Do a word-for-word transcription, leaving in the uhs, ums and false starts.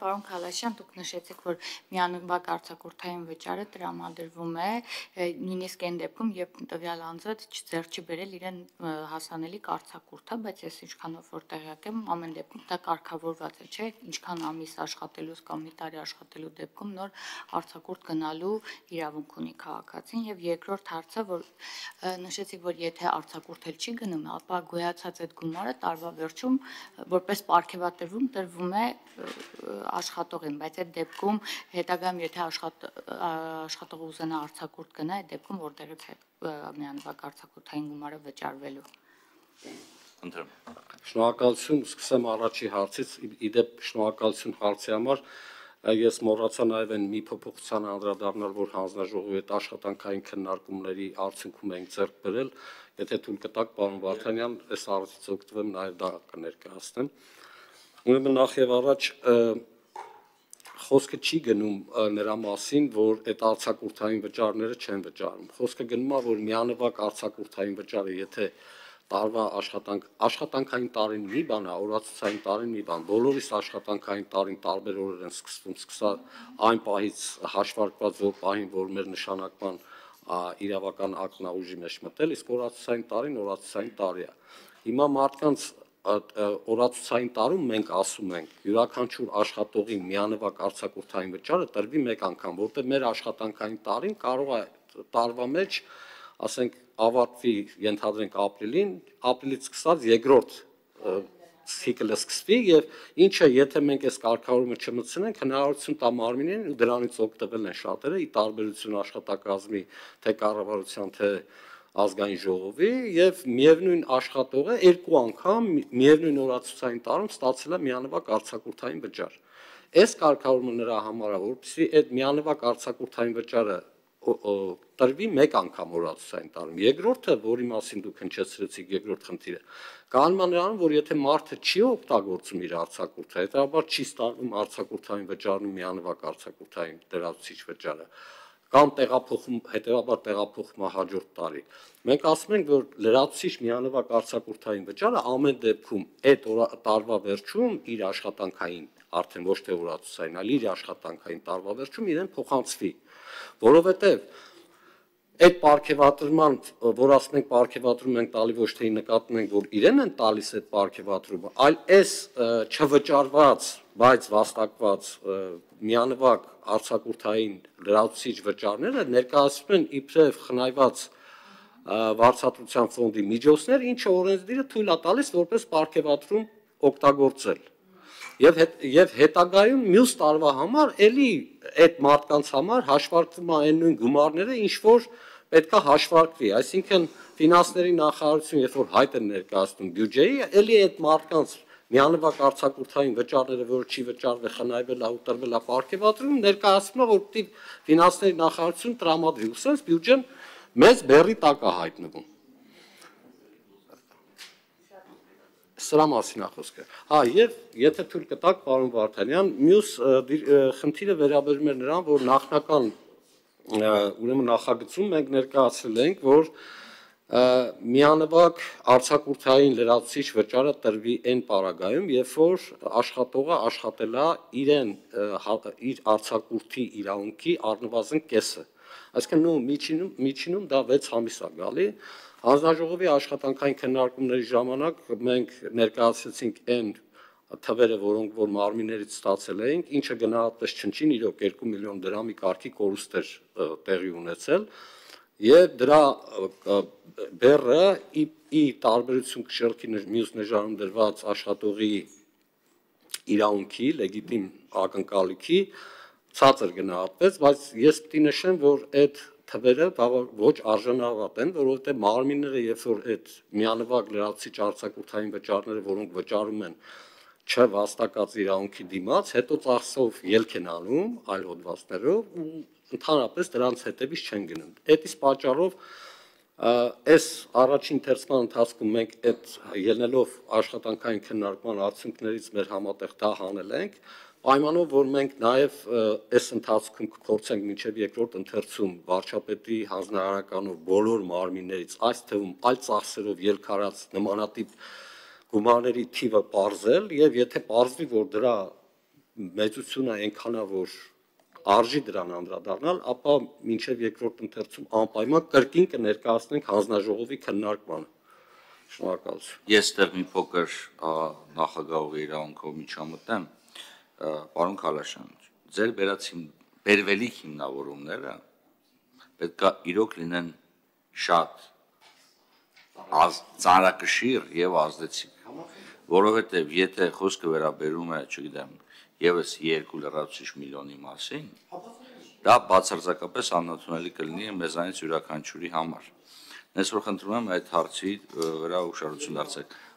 Պարոն Քալաշյան, դուք նշեցիք, որ միանվագ արձակուրդային վճարը տրամադրվում է նույնիսկ այն դեպքում, երբ տվյալ անձը ձեռք չի բերել իրեն հասանելիք արձակուրդը, բայց ես ինչքանով որ տեղյակ եմ, ամեն դեպքում դա կարգավորված է, չէ՞, ինչքան ամիս աշխատելուց կամ մի տարի աշխատելու դեպքում նոր արձակուրդ գնալու իրավունք ունի քաղաքացին, եւ երկրորդ հարցը, որ նշեցիք, որ եթե արձակուրդ չի գնում, ապա գոյացած այդ գումարը տարվա վերջում որպես պարգևատրվում տրվում է աշխատողին, բայց այդ դեպքում հետագայում եթե աշխատողը ուզենա արձակուրդ գնա, այդ դեպքում որտեղից է միանվագ արձակուրդային գումարը վճարվելու։ Շնորհակալություն, սկսեմ առաջի հարցից, իդեպ շնորհակալություն հարցի համար, ես մոռացա նաև այն մի փոփոխության անդրադառնալ, որ հանձնաժողովի հետ աշխատանքային քննարկումների արդյունքում ենք ձեռք բերել, եթե թույլ կտաք, պարոն Վարդանյան, այս առիթից օգտվեմ նաև դա կներկայացնեմ։ Ուրեմն նախ եւ առաջ խոսքը չի գնում նրա մասին, որ այդ արձակուրդային վճարները չեն վճարում։ Խոսքը գնում է, որ միանվագ արձակուրդային վճարը, եթե տարվա աշխատանք աշխատանքային տարին մի բան է, օրացուցային տարին մի բան, բոլորիս աշխատանքային տարին տարբեր օրեր են սկսվում, սկսա այն պահից հաշվարկված որ պահին, որ մեր նշանակման իրավական ակտն է ուժի մեջ մտել, իսկ օրացուցային տարին օրացուցային տարի է։ Հիմա մարդկանց օրացուցային տարում մենք ասում ենք յուրաքանչյուր աշխատողի միանվագ արձակուրդային վճարը տրվի մեկ անգամ, որտեղ մեր աշխատանքային տարին կարող է տարվա մեջ, ասենք, ավարտվի, ենթադրենք ապրիլին, ապրիլից սկսած երկրորդ ցիկլը սկսվի եւ ինչը եթե մենք այս կարգավորումը չմտցնենք, հնարավորություն տա մարմինին ու դրանից օգտվել են շատերը՝ ի տարբերություն աշխատակազմի թե կառավարության, թե ազգային ժողովի եւ միևնույն աշխատողը երկու անգամ միևնույն օրացուցային տարում ստացել է միանվագ արձակուրդային վճար։ Այս կարգավորումը նրա համար է, որպեսզի այդ միանվագ արձակուրդային վճարը տրվի մեկ անգամ օրացուցային տարում։ Երկրորդը, որի մասին դուք հնչեցրեցիք, երկրորդ խնդիրը, կանում է նրանում, որ եթե մարդը չի օգտագործում իր արձակուրդը, հետաբար չի ստանալու արձակուրդային վճարում միանվագ արձակուրդային լրացուցիչ վճարը, կամ տեղափոխում, հետեւաբար տեղափոխում է հաջորդ տարի։ Մենք ասում ենք, որ լրացուցիչ միանվագ արձակուրդային վճարը ամեն դեպքում այդ տարվա վերջում իր աշխատանքային, արդեն ոչ թե օրացուցային, այլ իր աշխատանքային տարվա վերջում իրեն փոխանցվի, որովհետև այդ պարգևատրման, որ ասում ենք պարգևատրում ենք տալի, ոչ թե նկատում ենք, որ իրեն են տալիս այդ պարգևատրումը, այլ այս չվճարված, բայց վաստակված միանվագ արձակուրդային լրացուցիչ վճարները ներկայացվում են իբրև խնայված վարձատրության ֆոնդի միջոցներ, ինչը օրենսդիրը թույլ է տալիս որպես պարգևատրում օգտագործել։ Եվ եւ հետագայում մյուս տարվա համար էլի այդ մարդկանց համար հաշվարկվում է այն նույն գումարները, ինչ որ պետք է հաշվարկվի, այսինքն ֆինանսների նախարարություն, երբ որ հայտ են ներկայացնում բյուջեի, էլի այդ մարդկանց միանվագ արձակուրդային վճարները, որը չի վճարվել, խնայվել է ու տրվել է պարգևատրում, ներկայացնում է, որ պիտի ֆինանսների նախարարություն տրամադրի, ուսենց բյուջեն մեծ բեռի տակ է հայտնվում։ Սրա մասին է խոսքը։ Հա, եւ եթե թույլ կտաք, պարոն Վարդանյան, մյուս խնդիրը վերաբերում է նրան, որ նախնական ուրեմն նախագծում մենք ներկայացրել ենք, որ միանվագ արձակուրդային լրացուցիչ վճարը տրվի այն պարագայում, երբ որ աշխատողը աշխատել է իրեն իր արձակուրդի իրավունքի առնվազն կեսը։ Այսինքն նույն միջինում միջինում դա վեց ամիս է գալի։ Հանձնաժողովի աշխատանքային քննարկումների ժամանակ մենք ներկայացրեցինք այն թվերը, որոնք որ մարմիններից ստացել էինք, ինչը գնահատվեց չնչին իրոք երկու միլիոն դրամի կարգի կորուստ էր տեղի ունեցել, եւ դրա բեռը ի տարբերություն շրջի մյուս նժարում դրված աշխատողի իրավունքի լեգիտիմ ակնկալիքի ցածր գնահատվեց, բայց ես պիտի նշեմ, որ այդ թվերը ոչ արժանավատ են, որովհետև մարմինները, երբ որ այդ միանվագ լրացուցիչ արձակուրդային վճարները, որոնք վճարում են չվաստակած իրավունքի դիմաց, հետո ծախսով ելք են անում այլ հոդվածներով ու ընդհանրապես դրանց հետևից չեն գնում։ Այդ իսկ պատճառով այս առաջին թերցման ընթացքում մենք այդ ելնելով աշխատանքային քննարկման արդյունքներից մեր համատեղ դա հանել ենք, պայմանով, որ մենք նաև այս ընթացքում կփորձենք մինչև երկրորդ ընթերցում վարչապետի հանձնարարականով բոլոր մարմիններից այս թվում այլ ծախսերով ելք արած նմանատիպ գումարների թիվը պարզել եւ եթե պարզվի, որ դրա մեծությունը այնքան է, որ արժի դրան անդրադառնալ, ապա մինչև երկրորդ ընթերցում անպայման կրկին կներկայացնենք հանձնաժողովի քննարկմանը։ Շնորհակալություն։ Ես դեռ մի փոքր նախագահողի իրավունքով միջամտեմ, պարոն Քալաշյան, ձեր բերվելիք հիմնավորումները պետք է իրոք լինեն շատ ծանրակշիռ եւ ազդեցիկ, որովհետեւ եթե խոսքը վերաբերում է, չգիտեմ, եւս երկու լրացուցիչ միլիոնի մասին, դա բացարձակապես անընդունելի կլինի մեզանից յուրաքանչյուրի համար։ Ես որ խնդրում եմ այդ հարցի վրա ուշադրություն դարձնել։